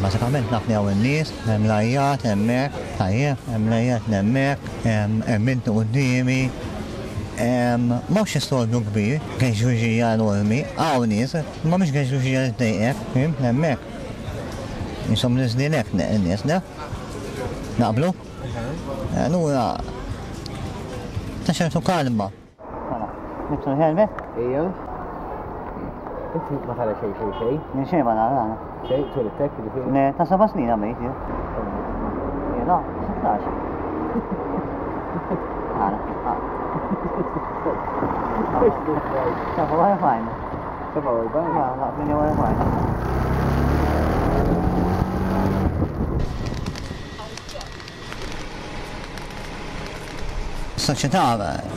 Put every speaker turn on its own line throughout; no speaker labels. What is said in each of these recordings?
Bażikament naf li hawn in-nies, hemm l-għajjat hemmhekk, tajjeb, hemm l-għajjat hemmhekk, hemm inti quddiemi. M'hawnx istorbju kbir, geġġuġija enormi, hawn nies, imma mhix geġġuġija li tdejqek, fhimt, hemmhekk. Qishom niżlin hekk in-nies, le? Naqblu? Allura ta' ċertu kalma. Mela, nibtu l-helmet?
Ejja. Inti ma tara xejn xejn xejn.
Minn xejn ma nara għana.
Xejn, twelidtek ġifieri?
Le, ta' seba' snin għamilt jien. Jiena, 16. Għana. 47.
47?
Ma, la, 48. Soċjetà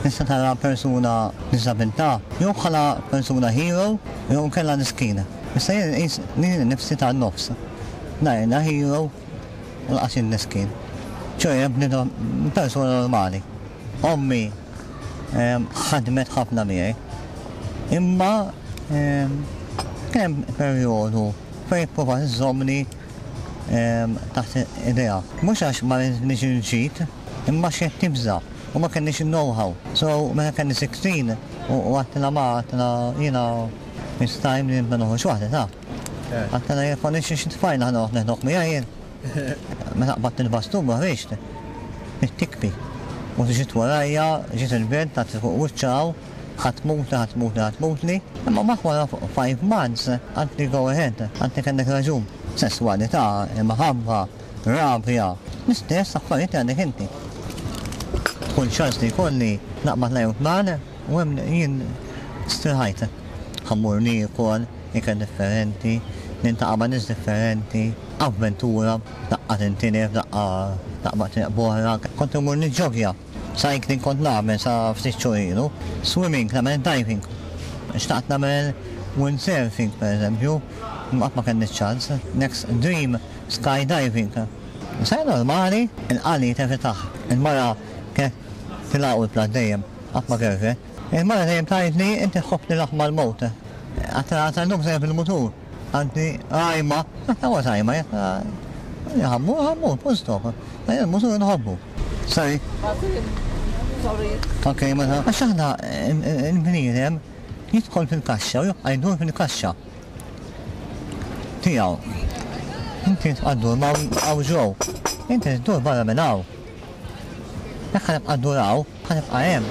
tista' tara persuna b'diżabilità jew bħala persuna hero jew inkella miskina. Issa jien inqis lili nnifsi tan-nofs. La jiena hero u lanqas jien miskin. Ċoe bniedem persuna normali. Ommi ħadmet ħafna miegħi. Imma kien hemm perjodu fejn ipprovat iżżommni taħt idejha. Mhux għax ma ridnix il-ġid, imma għax kienet tibża' u ma kellniex il-know-how. So meta kelli 16 u għedtilha ma għedtilha jiena it's time li nibda noħroġ waħdi taf. Għedtilha jekk m'għandix xi tfajla ħa noqgħod neħdok miegħi jien. Meta qbadt il-bastun ma ħriġt, bdiet tikbi. U ġiet warajja, ġiet il-belt tagħti fuq wiċċha hawn. Ħa tmutli, ħa tmutli, ħa tmutli. Imma mbagħad wara 5 months qaltli go ahead, qaltli kellek raġun. Sesswalità, imħabba, rabja, l-istess affarijiet li għandek inti. Kull ċans li jkolli naqbad l-ajruplan u hemm jien strħajt. Ħa mmur niekol ikel differenti, niltaqa' ma' nies differenti, avventura, daqqa tintilef, daqqa taqbad triq b'oħra. Kont immur niġġogja. Cycling kont nagħmel sa ftit xhur ilu. Swimming, nagħmel diving. Xtaqt nagħmel windsurfing pereżempju, imma qatt ma kelli ċ-ċans. Next dream, skydiving. Sajja normali, il-qali tevitah. Il-mara kienet tilgħaqu l-platt dejjem, qatt ma kerfet. Il-mara dejjem tgħidli inti tħobb tilgħab mal-mewt. Għedtilha tal-lum sejjer bil-mutur. Qaltli rajma, għedtilha what rajma, għedtilha ħa mmur, ħa mmur, full stop. Jien il-mutur inħobbu. Sorry.
Sorry.
Ok, mela. Għax aħna il-bniedem jidħol fil-kaxxa u jibqa' jdur fil-kaxxa tiegħu. Inti tibqa' ddur ma' hawn ġew. Inti tdur barra minn hawn. Jekk ħa nibqa' ndur hawn, ħa nibqa' hemm.